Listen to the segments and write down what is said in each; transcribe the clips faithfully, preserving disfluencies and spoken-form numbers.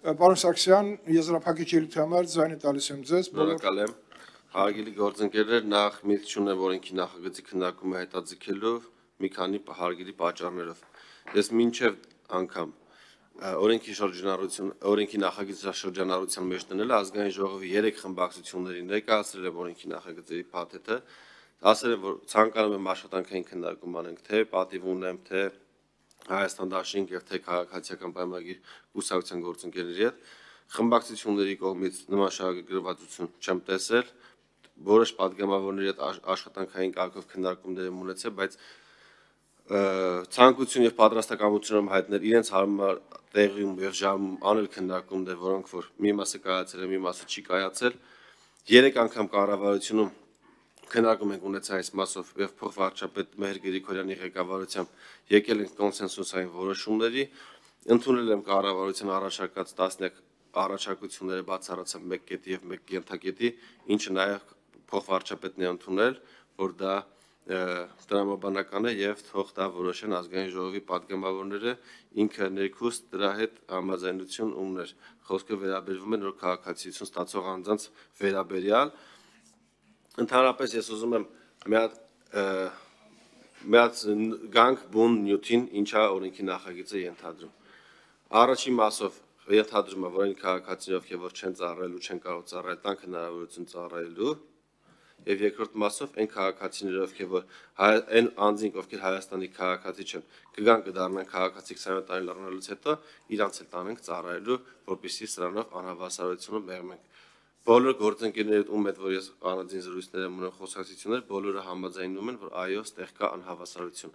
Պարոն Սարգսյան, եզրափակիչ ելույթի համար ձայնը տալիս եմ ձեզ։ Շնորհակալ եմ։ Հարգելի գործընկերներ, նախ միտք չունեմ օրենքի նախագծի քննարկումը հետաձգելու մի քանի հարգելի պատճառներով։ Ես մինչև անգամ օրենքի շրջանառություն, օրենքի նախագծի շրջանառության մեջ դնել ազգային ժողովի երեք խմբակցությունների ներկայացրել եմ օրենքի նախագծի փաթեթը, ասել եմ, որ ցանկանում եմ աշխատանքային քննարկում անենք, թե պատիվ ունեմ, թե Հայաստան դաշինք եւ թե քաղաքացիական պայմանագիր կուսակցության գործընկերների հետ խմբակցությունների կողմից նման շահագրգռվածություն չեմ տեսել, որոշ պատգամավորների հետ աշխատանքային կարգով քննարկումներ եմ ունեցել, բայց ցանկություն եւ պատրաստակամություն եմ հայտնել իրենց հարմար տեղում եւ ժամում անել քննարկումներ, որոնք որ մի մասը կայացել է, մի մասը չի կայացել, երեք անգամ կառավարությունում քննարկում ենք ունեցել այս մասով եւ փոխվարչապետ Մեհր Գրիգորյանի ղեկավարությամբ եկել ենք կոնսենսուսային որոշումների, ընդունել եմ կառավարության առաջարկած տասնյակ առաջարկությունները բացառացավ մեկ կետի եւ մեկ ենթակետի, ինչը նաեւ փոխվարչապետն է ընդունել, որ դա տրամաբանական է եւ թող դա որոշեն ազգային ժողովի պատգամավորները, ինքը ներքուս դրա հետ համաձայնություն ուներ։ Խոսքը վերաբերվում է նոր քաղաքացիություն ստացող անձանց վերաբերյալ։ Ընդհանրապես ես ուզում եմ մի հատ մի հատ գանք բուն նյութին ինչա օրենքի նախագիծը ենթադրում։ Առաջին մասով ենթադրում է, որ այն քաղաքացիներով, որ չեն ծառայելու, չեն կարող ծառայել, տանք հնարավորություն ծառայելու, եւ երկրորդ մասով այն քաղաքացիներով, որ այն անձինք, ովքեր Հայաստանի քաղաքացի չեն, կգան կդառնան քաղաքացի քսաներորդ տարին լռնելուց հետո իրանց էլ տանենք ծառայելու, որպեսզի սրանով անհավասարությունը մեղմենք։ Բոլոր գործընկերներիդ ում հետ որ ես առանձին զրույցներ եմ ունենում խոսակցություններ, բոլորը համաձայնում են, որ այո, ստեղ կա անհավասարություն։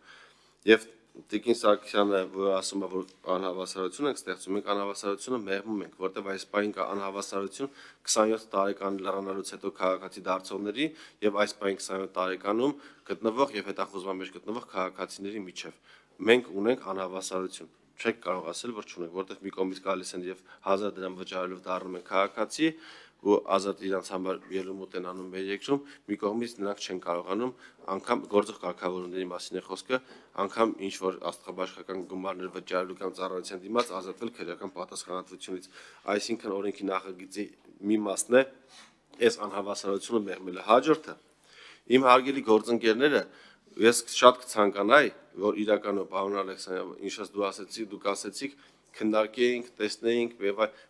Եվ Տիկին Սարգսյանը որ ասում է, որ անհավասարություն ենք ստեղծում, մենք անհավասարությունը մեղմում ենք, որտեղ այս պահին կա անհավասարություն քսաներորդ տարեկան լրանալուց հետո քաղաքացի դարձողների եւ այս պահին քսաներորդ տարեկանում գտնվող եւ հետախուզման մեջ գտնվող քաղաքացիների միջեւ։ Մենք ունենք անհավասարություն։ Չեք կարող ասել, որ չունենք, որտեղ մի կողմից գալիս են եւ հազար դրամ վճարելով դառնում են քաղաքացի ու ազատ իրանց համար ելումուտ են անում մեր երկրում, մի կողմից նրանք չեն կարողանում անգամ գործող կարգավորումների մասին է խոսքը, անգամ ինչ որ աստղաբաշխական գումարներ վճարելու կամ ծառայության դիմաց ազատվել քրեական պատասխանատվությունից։ Այսինքն օրենքի նախագծի մի մասն է այս անհավասարությունը մեղմելը։ Հաջորդը իմ հարգելի գործընկերները ես շատ կցանկանայի, որ իրականում պարոն Ալեքսանյան, ինչպես դու ասեցիք, դուք ասեցիք քննարկեինք, տեսնեինք,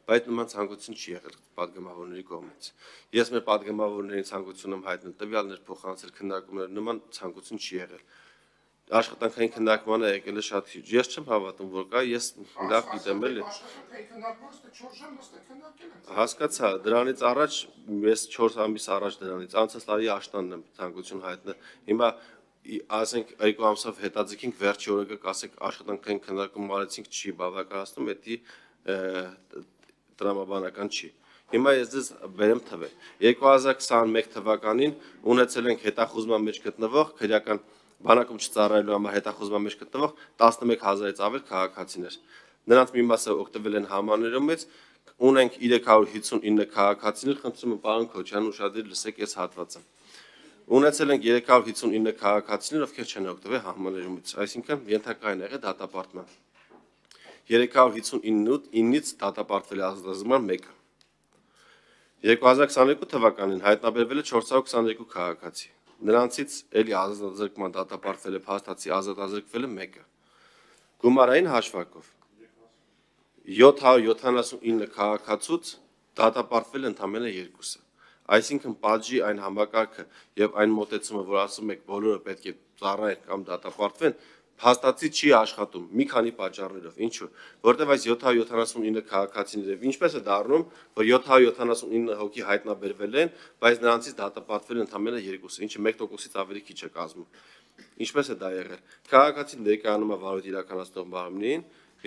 բայց նման ցանկություն չի եղել պատգամավորների կողմից։ Ես մեր պատգամավորների ցանկություն եմ հայտնել տվյալներ փոխանցել քննարկումներ, նման ցանկություն չի եղել։ Աշխատանքային քննարկմանը եկել է շատ քիչ։ Ես չեմ հավատում, որ կա, ես լավ գիտեմ էլի։ Հասկացա, դրանից առաջ ես չորս ամիս առաջ դրանից անցած տարի աշտանն եմ ցանկություն հայտնել։ Հիմա ասենք երկու ամսով հետաձգենք վերջի օրը կասեք աշխատանքային քննարկում արեցինք չի բավականացնում, դա տրամաբանական չի։ Հիմա ես ձեզ բերեմ թվեր։ երկու հազար քսաներորդ թվականին ունեցել ենք հետախուզման մեջ գտնվող քրեական բանակում չծառայելու համար հետախուզման մեջ գտնվող տասնմեկ հազարից ավել քաղաքացիներ։ Նրանց մի մասը օգտվել են համաներումից, ունենք երեք հարյուր հիսունինը քաղաքացիներ, խնդրում եմ պարոն Քոչյան ուշադիր լսեք այս հատվածը։ Ունեցել ենք երեք հարյուր հիսունինը քաղաքացիներ, ովքեր չեն օգտվել համաներումից, այսինքն ենթակային եղել դատապարտման։ երեք հարյուր հիսունինից դատապարտվել է ազատազրկման մեկը։ երկու հազար քսաներկու թվականին հայտնաբերվել է չորս հարյուր քսաներկու քաղաքացի։ Նրանցից էլի ազատազրկման դատապարտվել է փաստացի ազատազրկվել է մեկը։ Գումարային հաշվարկով յոթ հարյուր յոթանասունինը քաղաքացուց դատապարտվել ընդամենը երկուսը։ Այսինքն պատժի այն համակարգը եւ այն մոտեցումը, որ ասում եք բոլորը պետք է ծառայեն կամ դատապարտվեն, փաստացի չի աշխատում մի քանի պատճառներով։ Ինչու՞։ Որտեւ այս յոթ հարյուր յոթանասունինը քաղաքացիներով ինչպես է դառնում, որ յոթ հարյուր յոթանասունինը հոգի հայտնաբերվել են, բայց նրանցից դատապարտվել ընդամենը երկուսը, ինչը մեկ տոկոսից ավելի քիչ է կազմում։ Ինչպես է դա եղել։ Քաղաքացին ներկայանում է վարույթ իրականացնող մարմնին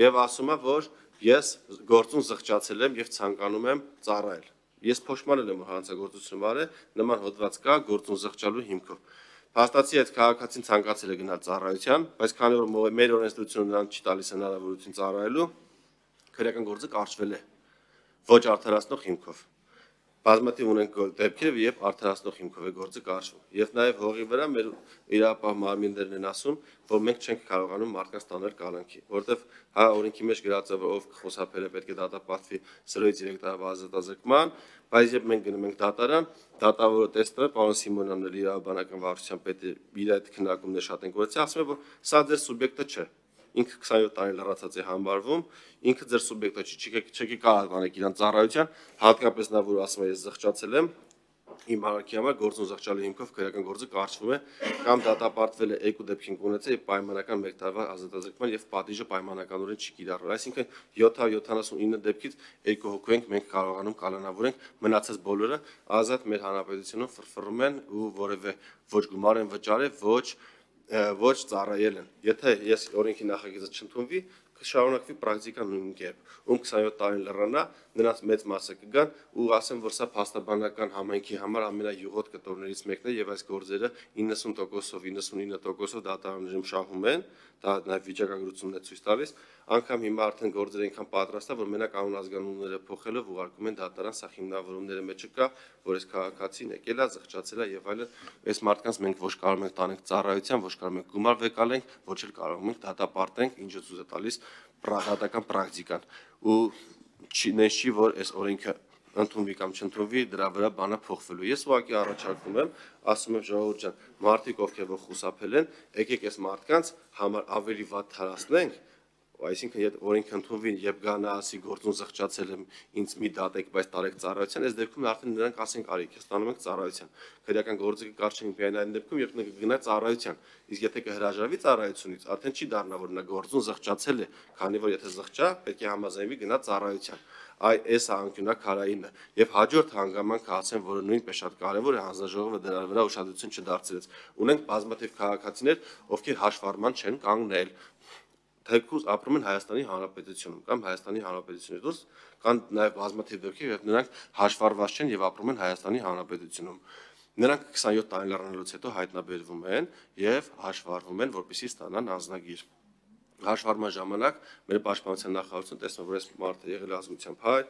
եւ ասում է, որ ես գործուն զղջացել եմ եւ ցանկանում եմ ծառայել։ Ես փոշմանել եմ հանցագործություն արել, նման հոդված կա գործուն զղջալու հիմքով։ Փաստացի այդ քաղաքացին ցանկացել է գնալ ծառայության, բայց քանի որ մեր օրենսդրությունը նրան չի տալիս հնարավորություն ծառայելու, քրեական գործը կարճվել է ոչ արդարացնող հիմքով։ բազմաթիվ ունենք դեպքեր, երբ արդարացնող հիմքով է գործը կարճվում։ Եվ նաև հողի վրա մեր իրապահ մարմիններն են ասում, որ մենք չենք կարողանում մարդկանց տանել կալանքի, որովհետև հա օրենքի մեջ գրած է, որ ով խոսափել է պետք է դատապարտվի սրոյից երեք տարվա ազատազրկման, բայց երբ մենք գնում ենք դատարան, դատավորը տեսնում է, պարոն Սիմոնյանն էլ իրավաբանական վարչության պետը իր այդ քննարկումները շատ են գործել, ասում է, որ սա ձեր սուբյեկտը չէ։ Ինքը քսանյոթ տարի լրացած է համբարվում, ինքը ձեր սուբյեկտը չի, չեք կարող անել իրան ծառայության, հատկապես նա որ ասում է ես զղջացել եմ, իմ հարակի համար գործուն զղջալու հիմքով քրեական գործը կարճվում է կամ դատապարտվել է երկու դեպքին ունեցել եւ պայմանական մեկ տարվա ազատազրկման եւ պատիժը պայմանականորեն չի կիրառվել, այսինքն յոթ հարյուր յոթանասունինը դեպքից երկու հոգու ենք մենք կարողանում կանոնավորենք, մնացած բոլորը ազատ մեր հանրապետությունում ֆրֆռում են ու որևէ ոչ գումար են վճարել, ոչ ոչ ծառայել են։ Եթե ես օրենքի նախագիծը չընդունվի, կշարունակվի պրակտիկան նույն կերպ։ Ում քսանյոթ տարին լռանա, նրանց մեծ մասը կգան ու ասեն, որ սա փաստաբանական համայնքի համար ամենայուղոտ կտորներից մեկն է եւ այս գործերը իննսուն տոկոսով, իննսունինը տոկոսով դատարաններում շահում են, դա նաեւ վիճակագրությունն է ցույց տալիս, անգամ հիմա արդեն գործերը այնքան պատրաստ է, որ մենակ անուն ազգանունները փոխելով ուղարկում են դատարան, սա հիմնավորումները մեջը կա, որ այս քաղաքացին եկել է, զղջացել է եւ այլն, այս մարդկանց մենք ոչ կարող ենք տանենք ծառայության, ոչ կարող ենք գումար վեկալենք, ոչ էլ կարող ենք դատապարտենք, ինչը ցույց է տալիս դատական պրակտիկան ու չի չի որ այս օրենքը ընդունվի կամ չընդունվի դրա վրա բանը փոխվելու։ Ես ուղղակի առաջարկում եմ, ասում եմ ժողովուրդ ջան, մարդիկ ովքեր որ խուսափել են, եկեք այս մարդկանց համար ավելի վատ թարացնենք, այսինքն եթե օրենքը ընդունվի եւ գանա ասի գործուն զղջացել եմ, ինձ մի դատեք, բայց տարեք ծառայության, այս դեպքում արդեն նրանք ասենք արի, քեզ տանում ենք ծառայության։ Քրեական գործը կկարճենք միայն այն դեպքում, երբ նա կգնա ծառայության։ Իսկ եթե կհրաժարվի ծառայությունից, արդեն չի դառնա որ նա գործուն զղջացել է, քանի որ եթե զղջա, պետք է համաձայնվի գնա ծառայության։ Այ այս անկյունակարայինը եւ հաջորդ հանգամանքը ասեն, որ նույնպես շատ կարեւոր է հանձնաժողովը դրա վրա ուշադրություն չդարձրեց։ Ունենք բազմաթիվ քաղաքացիներ, ովքեր հաշվառման չեն կանգնել, թեկուզ ապրում են Հայաստանի Հանրապետությունում կամ Հայաստանի Հանրապետությունից դուրս կան նաեւ բազմաթիվ դեպքեր, երբ նրանք հաշվառված չեն եւ ապրում են Հայաստանի Հանրապետությունում։ Նրանք քսանյոթ տարի լռանալուց հետո հայտնաբերվում են եւ հաշվառվում են, որպեսզի ստանան անձնագիր։ Հաշվառման ժամանակ մեր պաշտպանության նախարարությունը տեսնում որ այս մարդը եղել է ազգությամբ հայ,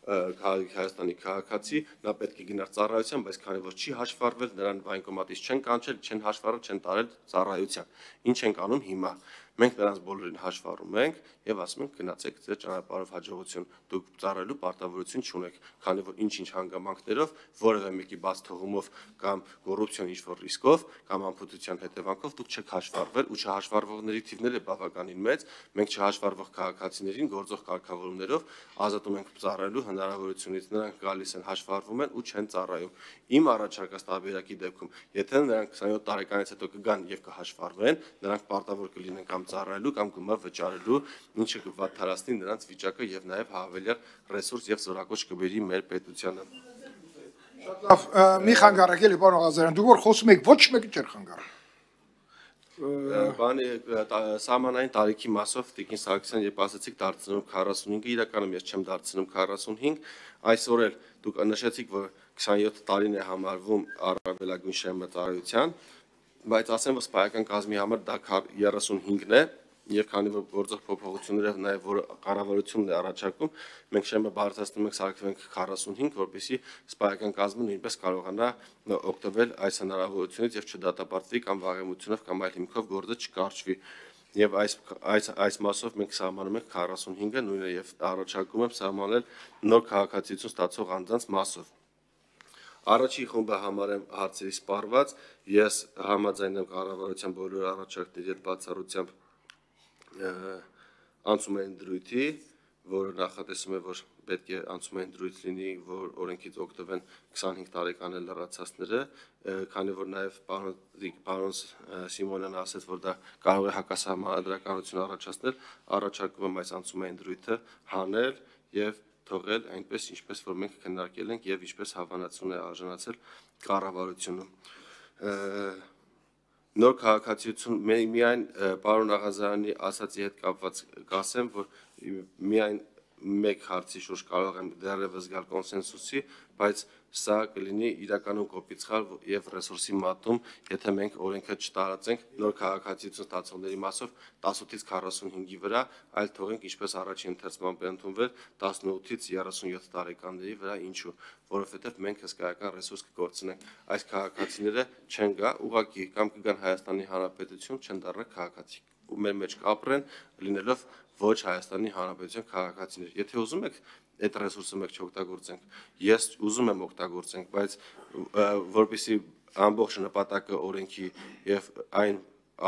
Հայաստանի քաղաքացի, նա պետք է գնար ծառայության, բայց քանի որ չի հաշվառվել, նրան վայնկոմատից չեն կանչել, չեն հաշվառել, չեն տարել ծառայության։ Ինչ ենք անում հիմա։ Մենք նրանց բոլորին հաշվառում ենք եւ ասում ենք գնացեք ձեր ճանապարհով հաջողություն, դուք ծառայելու պարտավորություն չունեք, քանի որ ինչ-ինչ հանգամանքներով, որևէ մեկի բաց թողումով կամ կոռուպցիոն ինչ-որ ռիսկով կամ անփութության հետևանքով դուք չեք հաշվառվել ու չհաշվառվողների թիվն է բավականին մեծ, մենք չհաշվառվող քաղաքացիներին գործող կարգավորումներով ազատում ենք ծառայելու հնարավորությունից, նրանք գալիս են հաշվառվում են ու չեն ծառայում։ Իմ առաջարկած տարբերակի դեպքում, եթե նրանք քսանյոթ տարեկանից հետո կգան եւ կհաշվառվեն, նրանք պարտավոր կլինեն կամ ծառայելու կամ գումար վճարելու, ինչը կվատ թարացնի նրանց վիճակը եւ նաեւ հավելյալ ռեսուրս եւ զորակոչ կբերի մեր պետությանը։ Շատ լավ, մի խանգարեք էլի պարոն Ղազարյան, դուք որ խոսում եք ոչ մեկը չէր խանգարում։ Բանի սահմանային տարիքի մասով Տիկին Սարգսյան երբ ասացիք դարձնում քառասունհինգը, իրականում ես չեմ դարձնում քառասունհինգ, այսօր էլ դուք նշեցիք, որ քսանյոթ տարին է համարվում առավելագույն շեմատարության, բայց ասեմ, որ սպայական կազմի համար դա երեսունհինգն է, եւ քանի որ գործող փոփոխությունները նաեւ որ կառավարությունն է առաջարկում, մենք շեմը բարձրացնում ենք սարքվենք քառասունհինգ, որպեսզի սպայական կազմը նույնպես կարողանա օգտվել այս հնարավորությունից եւ չդատապարտվի կամ վաղեմությունով կամ այլ հիմքով գործը չկարճվի։ Եվ այս այս այս մասով մենք սահմանում ենք քառասունհինգը, նույնը եւ առաջարկում եմ սահմանել նոր քաղաքացիություն ստացող անձանց մասով։ Առաջին խումբը համարեմ հարցերի սպառված, ես համաձայն եմ կառավարության բոլոր առաջարկների հետ բացառությամբ անցումային դրույթի, որը նախատեսում է, որ պետք է անցումային դրույթ լինի, որ օրենքից օգտվեն քսանհինգ տարեկան լրացածները, քանի որ նաև պարոն Սիմոնյանն ասաց, որ դա կարող է հակասահմանադրականություն առաջացնել, առաջարկում եմ այս անցումային դրույթը հանել եւ թողել այնպես, ինչպես որ մենք քննարկել ենք եւ ինչպես հավանացուն է արժանացել կառավարությունը։ Նոր քաղաքացիություն միայն պարոն Աղազարյանի ասացի հետ կապված կասեմ, որ միայն մեկ հարցի շուրջ կարող եմ դեռևս գալ կոնսենսուսի, բայց սա կլինի իրականում կոպիտ սխալ եւ ռեսուրսի մատում, եթե մենք օրենքը չտարածենք նոր քաղաքացիություն ստացողների մասով տասնութից քառասունհինգի վրա, այլ թողենք ինչպես առաջին ընթերցման ընդունվել տասնութից երեսունյոթ տարեկանների վրա, ինչու, որովհետեւ մենք հսկայական ռեսուրս կկորցնենք, այս քաղաքացիները չեն գա, ուղղակի կամ կգան Հայաստանի Հանրապետություն, չեն դառնա քաղաքացի, ու մեր մեջ կապրեն, լինելով ոչ Հայաստանի Հանրապետության քաղաքացիներ։ Եթե ուզում եք այդ ռեսուրսը մենք չօգտագործենք, ես ուզում եմ օգտագործենք, բայց որպեսզի ամբողջ նպատակը օրենքի եւ այն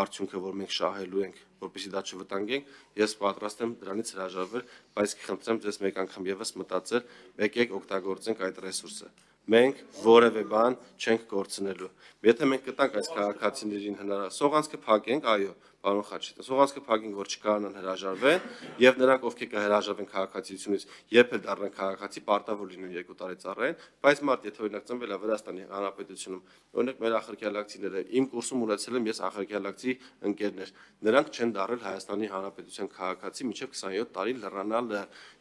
արդյունքը, որ մենք շահելու ենք, որպեսզի դա չվտանգենք, ես պատրաստ եմ դրանից հրաժարվել, բայց կխնդրեմ ձեզ մեկ անգամ եւս մտածել, եկեք օգտագործենք այդ ռեսուրսը։ Մենք որևէ բան չենք կորցնելու։ Եթե մենք կտանք այս քաղաքացիներին հնարավոր սողանցքը փակենք, այո, պարոն Խաչատրյան, սողանցքը փակենք, որ չկարանան հրաժարվեն, եւ նրանք, ովքեր կհրաժարվեն քաղաքացիությունից, երբ էլ դառնան քաղաքացի, պարտավոր լինեն երկու տարի ծառայեն, բայց մարդ, եթե օրինակ ծնվել է Վրաստանի Հանրապետությունում, օրինակ մեր ախրկյալակցիները, իմ կուրսում ունեցել եմ ես ախրկյալակցի ընկերներ, նրանք չեն դառել Հայաստանի Հանրապետության քաղաքացի մինչեւ քսանյոթ տարի լռանալ,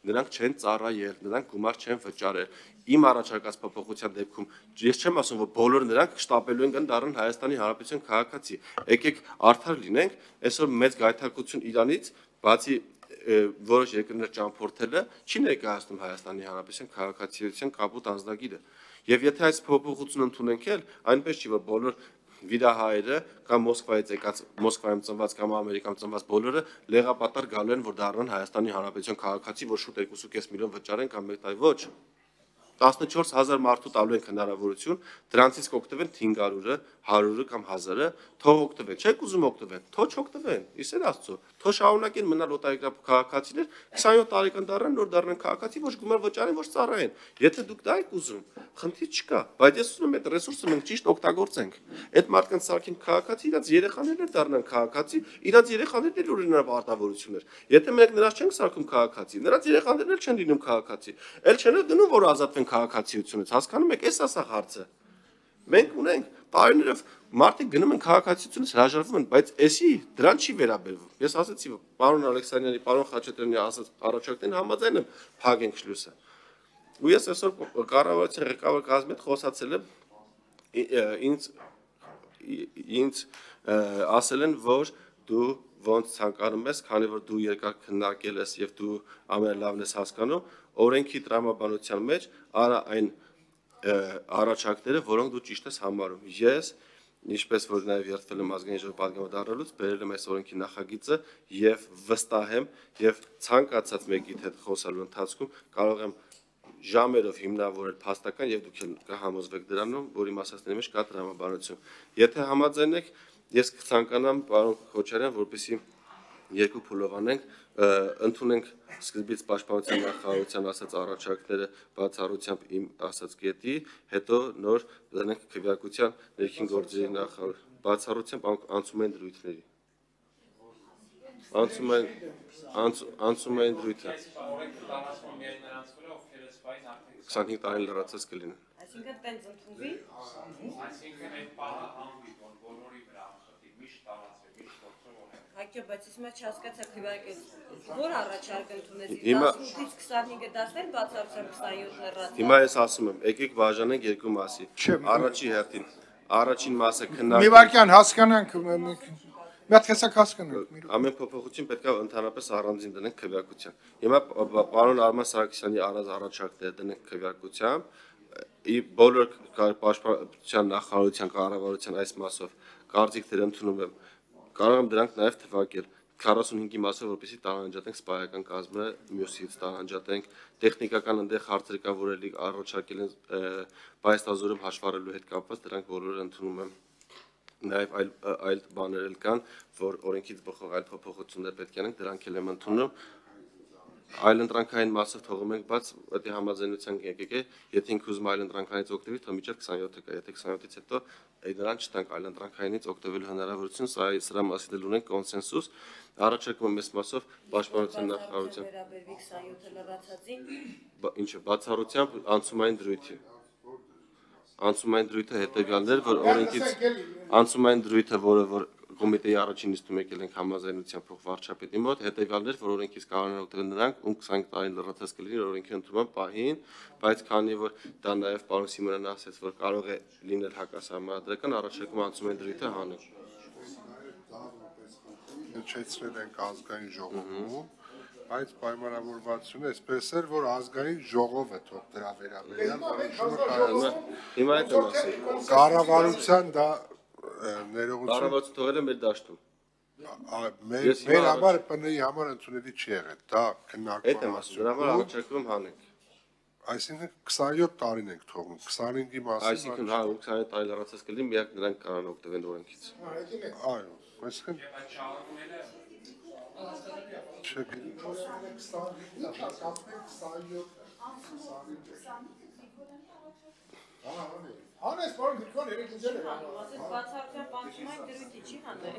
նրանք չեն ծառայել, նրանք գումար չեն վճարել։ Իմ առաջարկած փոփոխության դեպքում ես չեմ ասում, որ բոլոր նրանք շտապելու են դառնան Հայաստանի Հանրապետության քաղաքացի։ Եկեք արդար լինենք, այսօր մեծ գայթակղություն Իրանից, բացի որոշ երկրներ ճամփորդելը, չի ներկայացնում Հայաստանի Հանրապետության քաղաքացիության կապուտ անձնագիրը։ Եվ եթե այս փոփոխությունը ընդունենք էլ, այնպես չի, որ բոլոր վիրահայերը կամ Մոսկվայից եկած Մոսկվայում ծնված կամ Ամերիկայում ծնված բոլորը լեղապատար գալու են, որ դառնան Հայաստանի Հանրապետության քաղաքացի, որ շուտ երկու կես միլիոն վճարեն կամ մեկ տարի ոչ։ տասնչորս հազար մարդու տալու ենք հնարավորություն, դրանցից կօգտվեն հինգ հարյուրը, հարյուրը կամ հազարը, թող օգտվեն, չեք ուզում օգտվեն, թող չօգտվեն, իսեր Աստծո, թող շարունակեն մնալ օտարերկրյա քաղաքացիներ, քսանյոթ տարեկան դառնան, նոր դառնան քաղաքացի, ոչ գումար վճարեն, ոչ ծառայեն։ Եթե դուք դա եք ուզում, խնդիր չկա, բայց ես ուզում եմ այդ ռեսուրսը մենք ճիշտ օգտագործենք։ Այդ մարդկանց սարքին քաղաքացի, իրաց երեխաներն էլ դառնան քաղաքացի, իրաց երեխաներն էլ ունենան պարտավորություններ։ Եթե մենք նրանց չենք սարքում քաղաքացի, նրանց երեխաներն էլ չեն լինում քաղաքացի, էլ չեն գնում, որ ազատվեն քաղաքացիությունից, հասկանում եք, էս ասա հարցը։ Մենք ունենք տարիներով մարդիկ գնում են քաղաքացիությունից հրաժարվում են, բայց էսի դրան չի վերաբերվում։ Ես ասացի, պարոն Ալեքսանյանի, պարոն Խաչատրյանի ասած առաջարկներին համաձայն եմ, փակենք շլյուսը։ Ու ես այսօր կառավարության ղեկավար կազմի հետ խոսացել եմ, ինձ ինձ ասել են, որ դու ոնց ցանկանում ես, քանի որ դու երկար քննարկել ես եւ դու ամենալավն ես հասկանում, օրենքի տրամաբանության մեջ արա այն առաջարկները, որոնք դու ճիշտ ես համարում։ Ես, ինչպես որ նաև երթվել եմ ազգային ժողովի պատգամավորելուց, բերել եմ այս օրենքի նախագիծը եւ վստահ եմ եւ ցանկացած մեկի հետ խոսալու ընթացքում կարող եմ ժամերով հիմնավորել փաստական եւ դուք կհամոզվեք դրանում, որի մասածների մեջ կա տրամաբանություն։ Եթե համաձայն եք, ես կցանկանամ պարոն Քոչարյան, որպեսզի երկու փուլով անենք, ընդունենք սկզբից պաշտպանության նախարարության ասած առաջարկները բացառությամբ իմ ասած կետի, հետո նոր դրանք քվեարկության ներքին գործերի նախարար բացառությամբ անցում են դրույթների։ Անցում են անցում են դրույթը։ քսանհինգ տարին լրացած կլինեն։ Այսինքն տենց ընդունվի։ Այսինքն այդ բանը համբի, որ բոլորի վրա ամսոտի միշտ տարածվի, միշտ գործող է։ Հակյո, բայց ես մա չհասկացա քվեարկել։ Որ առաջարկ ընդունեցի Հիմա- տասնութից քսանհինգը դասներ բացառությամբ քսանյոթ լրացած։ Հիմա ես ասում եմ, եկեք բաժանենք երկու մասի։ Չէ, Առաջի հերթին, առաջին մասը Մի քննարկում։ վարքյան հասկանանք, մի հատ տեսակ հասկանանք։ մի րոպե։ Ամեն փոփոխություն պետք է ընդհանրապես առանձին դնենք քվեարկության։ Հիմա պարոն Արման Սարգսյանի առած առաջարկները դնենք քվեարկության, ի բոլոր պաշտպանության նախարարության կառավարության այս մասով կարծիքներ ընդունում եմ։ Կարող եմ դրանք նաև թվարկել քառասունհինգի մասով, որպեսզի տարանջատենք սպայական կազմը, մյուսից տարանջատենք տեխնիկական այնտեղ հարցեր կան, որ էլի առաջարկել են բայստազորում հաշվառելու հետ կապված, դրանք բոլորը ընդունում եմ։ Նաև այլ այլ բաներ էլ կան, որ օրենքից բխող այլ փոփոխություններ պետք է անենք, դրանք էլ եմ ընդունում։ Այլ ընտրանքային մասով թողում ենք բաց, դա համաձայնության եկեք է, եթե ինքը ուզում այլ ընտրանքայինից օգտվի, թող միջև քսանյոթը կա, եթե քսանյոթից հետո դրան չտանք այլ ընտրանքայինից օգտվելու հնարավորություն, սա սրա մասին էլ ունենք կոնսենսուս, առաջարկում եմ այս մասով պաշտպանության նախարարության։ Վերաբերվի քսանյոթը լրացածին։ Ինչը բացառությամբ անցումային դրույթի։ Անցումային դրույթը հետեւյալն էր, որ օրենքից անցումային դրույթը, որը որ կոմիտեի առաջին նիստում եկել ենք համաձայնության փոխվարչապետի մոտ, հետևյալներ, որ օրենքից կարող են օգտվել նրանք, ում քսանհինգ տարին լրացած կլինի օրենքի ընդունման պահին, բայց քանի որ դա նաև պարոն Սիմոնյանն ասաց, որ կարող է լինել հակասահմանադրական, առաջարկում անցում են դրույթը հանել։ Հնչեցրել ենք ազգային ժողովում, բայց պայմանավորվածությունը այսպես էր, որ ազգային ժողովը թող դրա վերաբերյալ որոշումը կայացնի։ Հիմա այդ եմ ասում։ Կառավարության դա ներողություն Կառավարությունը թողել է մեր դաշտում։ մեր մեր համար Պ Ն-ի համար ընդունելի չի եղել, դա Այդ եմ ասում, դրա համար առաջարկում հանենք։ Այսինքն քսանհյոթ տարին ենք թողնում, քսանհինգի մասին։ Այսինքն հա քսանհինգ տարի լրացած կլինի, միակ նրանք կարող են օգտվել օրենքից։ Այո, այսինքն Այդ շարունակելը Հանես պարոն Գրիգորյան երեք ինձել է։ Ասես բացառության պանցումային դրույթի չի հանել։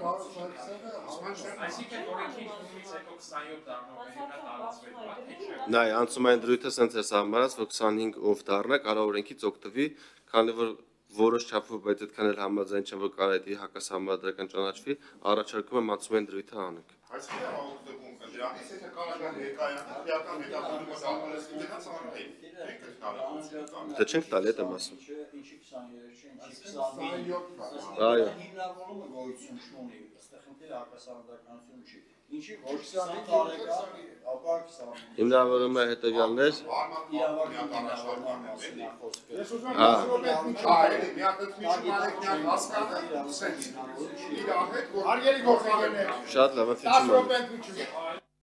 այսինքն օրենքի ընդունումից հետո քսանհյոթ դառնող հետա տարածվել բան։ Նայ, անցումային դրույթը սենց է սահմանած, որ քսանհինգ ով դառնա, կարող օրենքից օգտվի, քանի որ որոշ չափով, բայց այդքան էլ համաձայն չեմ, որ կարող է հակասահմանադրական ճանաչվի, առաջարկում եմ անցումային դրույթը հանենք։ Այսինքն հաղորդում դրանից եթե կարող է հեկայական հետապնդումը դառնալս դրանց անհայտ։ Դա չենք տալի, այդ եմ ասում։ Ինչի քսանհերեք չէ, ինչի քսանհինգ։ Այո։ Հիմնավորումը գոյություն չունի, այստեղ խնդիրը հակասահմանադրականություն չի։ Ինչի ոչ քսանհինգ տարեկան, ապա քսանհինգ։ Հիմնավորումը հետևյալներ։ Իրավական մասին է խոսքը։ Ես ուզում եմ Այ, մի հատ միջում արեք, մի հատ հասկանալ, սենց իր հետ որ Հարգելի գործընկերներ, Շատ լավ, դաս ըմբոշխում եմ։ րոպե ընդմիջում։